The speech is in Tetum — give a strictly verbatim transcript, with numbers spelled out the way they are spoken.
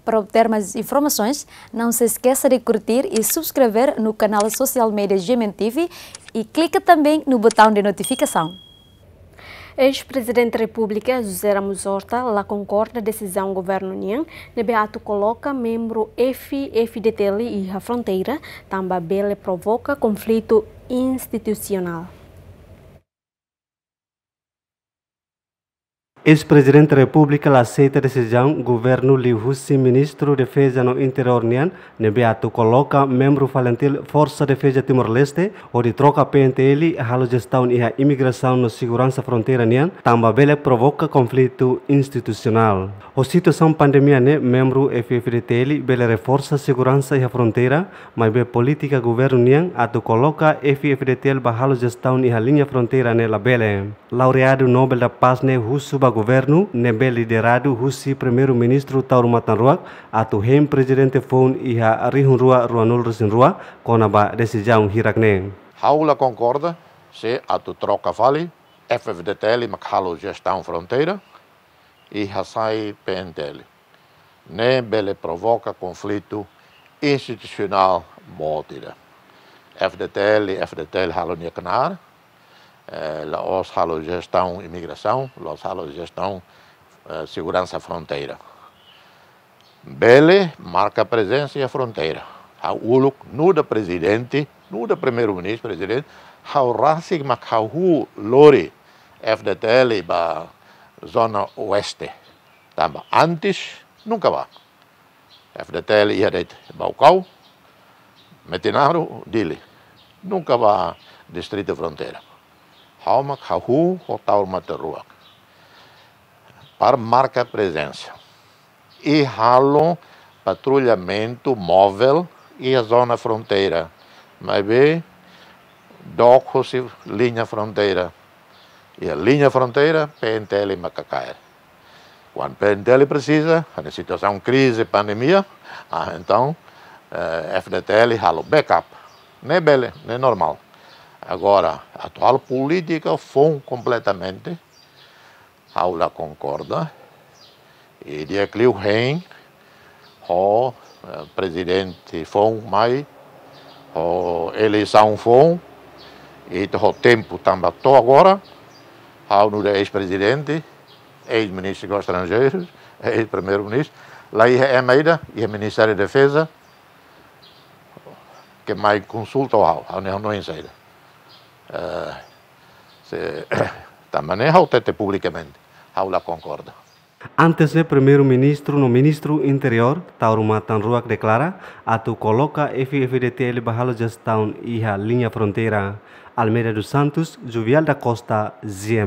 Para obter mais informações, não se esqueça de curtir e subscrever no canal social media G M N T V e clica também no botão de notificação. Eis-Prezidente Repúblika José Ramos Horta la konkorda desizaun governu nian ne'ebé atu koloka membru F-FDTL iha fronteira, tanba bele provoka konflitu institusionál. Eis-Prezidente Repúblika la aseita desizaun governu liuhusi Ministru Defeza no Interiór nian, ne'ebé atu koloka membru FALINTIL Forsa Defeza Timor-Leste hodi troka P N T L halo jestaun iha imigrasaun no seguransa fronteira nian, tanba bele provoka konflitu institusionál. Ho situasaun pandemia ne'e, membru F-FDTL bele reforsa seguransa iha fronteira, maibé polítika governu nian atu koloka F-FDTL ba halo jestaun iha liña fronteira ne'e labele. Laureadu Nobel da Paz ne'e husu ba governu ne'ebé lideradu husi Primeiru-Ministru Taur Matan Ruak atu hein prezidente foun iha rihun rua ruanulu-resin-rua kona-ba desizaun hirak ne'e. Ha'u la konkorda se atu troka fali F-FDTL mak halo jestaun fronteira i hasai P N T L. Ne'e bele provoka konflitu institusionál boot ida. F-FDTL, F-FDTL halo nia knaar, eh, la'ós halo jestaun imigrasaun, la'ós halo jestaun, eh, seguransa fronteira. Bele marka prezensa iha fronteira. Ha'u uluk nu'udar prezidente, nu'udar Primeiru-Ministru, prezidente, ha'u rasik mak ha'u lori F-FDTL ba zona oeste. Tanba antes, nunka bá. F-FDTL iha de'it Baucau, Metinaro, Dili. Nunka bá distritu fronteira. Ha'u mak hahú ho Taur Matan Ruak para marka prezensa i halo patrullamentu móvel iha zona fronteira. Maibé dook husi liña fronteira. Iha liña fronteira, P N T L maka kaer. Kuandu P N T L presiza, iha situasaun krize, pandemia, ah, entaun, eh, F-FDTL halo backup. Ne'e bele, ne'e normál. Agora, atu halo polítika foun kompletamente, ha'u la konkorda. I di'ak liu hein ho, eh, prezidente foun mai, ho eleisaun foun, i to'o tempu tanba to'o agora, ha'u nu'udar eis-prezidente, eis-ministru dos Estranjeirus, eis-primeiru-ministru, la iha ema ida iha Ministériu Defeza ke mai konsulta ho ha'u, ha'u ne'e hanoin saida. Eh, se, tanba ne'e ha'u hatete publikamente, ha'u la konkorda. Antes ne'e, Primeiru-Ministru no Ministru Interiór, Taur Matan Ruak, deklara atu koloka F-FDTL ba halo jestaun iha liña fronteira. Almeida dos Santos, Juvial da Costa, G M.